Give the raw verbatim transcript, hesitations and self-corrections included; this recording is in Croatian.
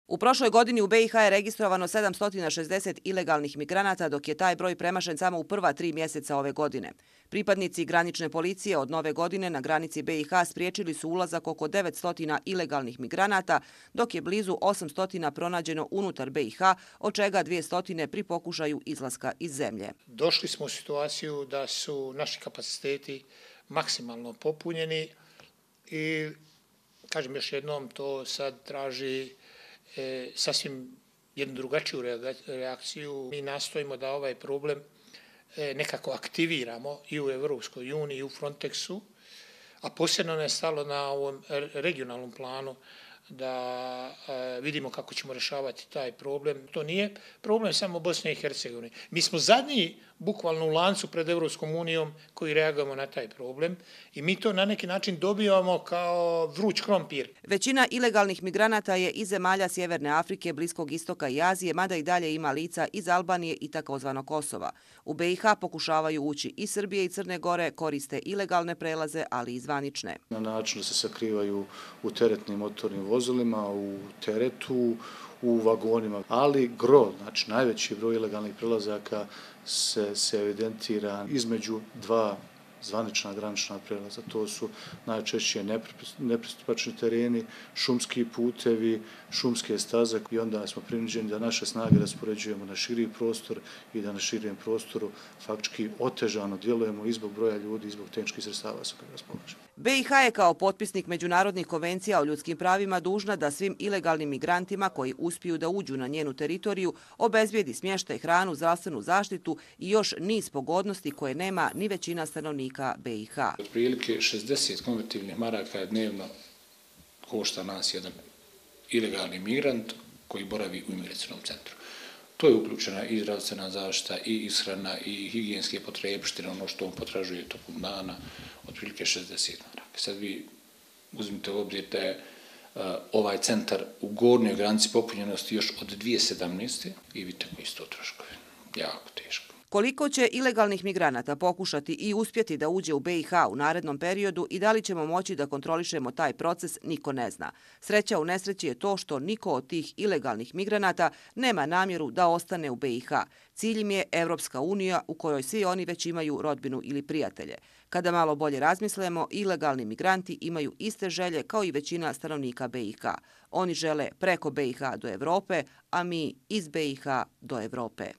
U prošloj godini u B i H je registrovano sedamsto šezdeset ilegalnih migranata, dok je taj broj premašen samo u prva tri mjeseca ove godine. Pripadnici granične policije od nove godine na granici B i H spriječili su ulazak oko devetsto ilegalnih migranata, dok je blizu osamsto pronađeno unutar B i H, od čega dvjesto pri pokušaju izlaska iz zemlje. Došli smo u situaciju da su naši kapaciteti maksimalno popunjeni i, kažem još jednom, to sad traži E, sasvim jednu drugačiju reakciju. Mi nastojimo da ovaj problem e, nekako aktiviramo i u Evropskoj uniji i u Frontexu, a posebno nam je stalo na ovom regionalnom planu da e, vidimo kako ćemo rješavati taj problem. To nije problem samo Bosne i Hercegovine. Mi smo zadnji bukvalno u lancu pred Evropskom unijom koji reagujemo na taj problem i mi to na neki način dobivamo kao vruć krompir. Većina ilegalnih migranata je iz zemalja Sjeverne Afrike, Bliskog istoka i Azije, mada i dalje ima lica iz Albanije i takozvanog Kosova. U B i H pokušavaju ući i Srbije i Crne Gore, koriste ilegalne prelaze, ali i zvanične. Na način da se sakrivaju u teretnim motornim vozilima, u teretu, u vagonima, ali gro, znači najveći broj ilegalnih prelazaka se, se evidentira između dva zvanična granična prelaza. To su najčešće nepristupačni tereni, šumski putevi, šumske staze i onda smo prinuđeni da naše snage raspoređujemo na širi prostor i da na širijem prostoru faktički otežano djelujemo i zbog broja ljudi i zbog tehničkih sredstava sa kojima raspolažemo. B i H je kao potpisnik međunarodnih konvencija o ljudskim pravima dužna da svim ilegalnim migrantima koji uspiju da uđu na njenu teritoriju obezbijedi smještaj, hranu, zdravstvenu zaštitu i još niz pogodnosti koje nema ni većina stanovnika B i H. Otprilike šezdeset konvertibilnih maraka dnevno košta nas jedan ilegalni migrant koji boravi u imigracionom centru. To je uključena i zdravstvena zaštita, i ishrana, i higijenske potrepštine, ono što on potražuje tokom dana, otprilike šezdeset maraka. Sad vi uzmite u obzir da je uh, ovaj centar u gornjoj granici popunjenosti još od dvije tisuće sedamnaeste. i vidite koji su to troškovi. Jako teško. Koliko će ilegalnih migranata pokušati i uspjeti da uđe u B i H u narednom periodu i da li ćemo moći da kontrolišemo taj proces, niko ne zna. Sreća u nesreći je to što niko od tih ilegalnih migranata nema namjeru da ostane u B i H. Cilj im je Evropska unija u kojoj svi oni već imaju rodbinu ili prijatelje. Kada malo bolje razmislimo, ilegalni migranti imaju iste želje kao i većina stanovnika B i H. Oni žele preko B i H do Evrope, a mi iz B i H do Evrope.